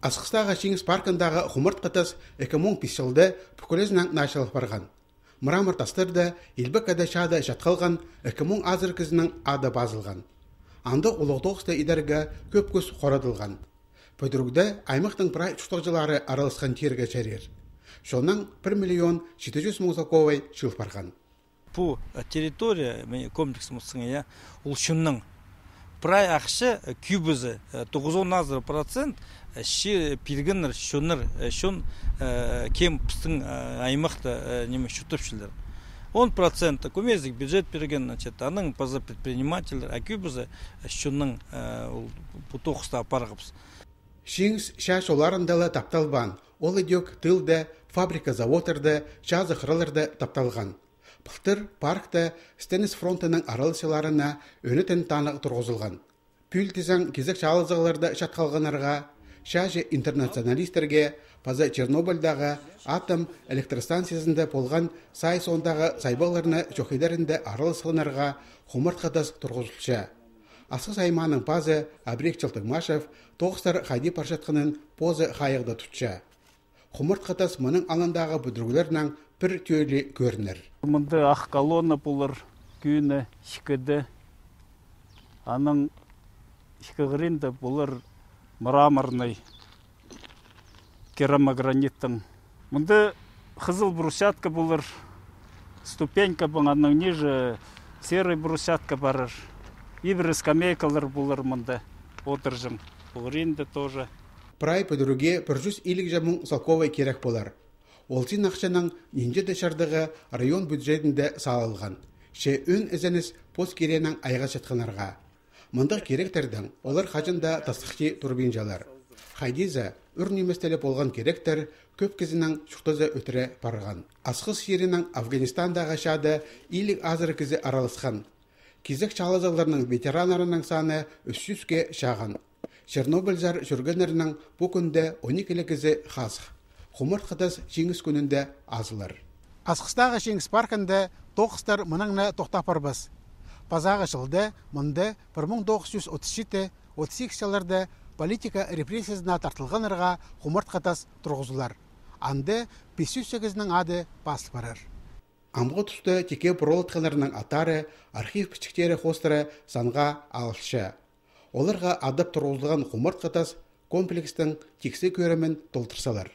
Асқыстағы Шеңіз паркындағы құмырт қытыз 2005 жылды бүкілізінің нашылық барған. Мұрамыр тастырды, елбік әді шады жатқалған 2000 азыр кізінің ады базылған. Анды ұлықтоқысты идерге көп көз қорадылған. Пөдірігді аймақтың прай чұқтықжылары аралысқан терге чәрер. Шонның 1 700 000 заковай шыл барған. Бұл территория комплексі ұлшынның прай ақшы күйбізі 90% ши пиргінір, шон кем пістің аймақты неме шүтіпшілер. 10% көмезік бюджет берген, аның паза предпринимателер, а күйбізі шонның тоқыста апарғыпс. Шеңіз шаш оларындалы тапталбан, ол едек тылды, фабрика заводырды, жазы қырылырды тапталған. Бұлтыр паркта Стенис фронтының аралысыларына өнітін танық тұрғызылған. Пүлтізің кезік шалызығыларды шатқалғанарға, шажы интернационалистерге, паза Чернобыльдағы атом электростанциясында болған сай сондағы сайбаларына жоқидарында аралысылынарға құмырт қытыз тұрғызылшы. Асқыз айманың пазы Абрек Чылтыңмашев тоғыстар қайди паршатқының позы қайығды тұтшы. Құмырт қытыз мұның алындағы бүдіргілерінің бір төйлі көрінір. Мұнды ақ колонна бұлыр күйіні шікіді. Аның шікігірінді бұлыр мраморный керамограниттың. Мұнды қызыл брусчатка бұлыр ступенька бұңаның ниже серый брусчатка барыр. Ибір скамейкалар бұлыр мұнды отыржың. Бұлыринді тоже. Прай пөдіруге 100 илік жамың салковай керек болар. Олтин ақшаның ненде дешардығы район бюджетінде салылған. Ше өн ізініс пост керенің айға шатқанарға. Мұндық керектердің олар қажында тастықши турбинжалар. Хайдиза үрнеместелі болған керектер көп кезінің шұқтызы өтірі парған. Асқыз жерінің Афганистандағы шады илік азыр кезі аралысқан. Кезік чалызыларының ветеранарының саны 300-ке шаған. Чернобыльзар жүргенерінің бұл күнде 12-лі кезі қасық. Құмырт қытыз Шеңіз күнінде азылар. Асқыстағы Шеңіз паркында тоқыстар мұныңны тоқтапыр біз. Пазағы жылды мұнды 1937-38 жылдарда политика репрессиясына тартылғанырға құмырт қытыз тұрғызылар. Анды 508-нің ады басып барыр. Амғы тұсты теке бұролытқанырының атары, архив пішіктері қостыры санға алышы. Оларға адып тұрғызылған құмырт қытыз комплекстің тексі көрімен толтырсалар.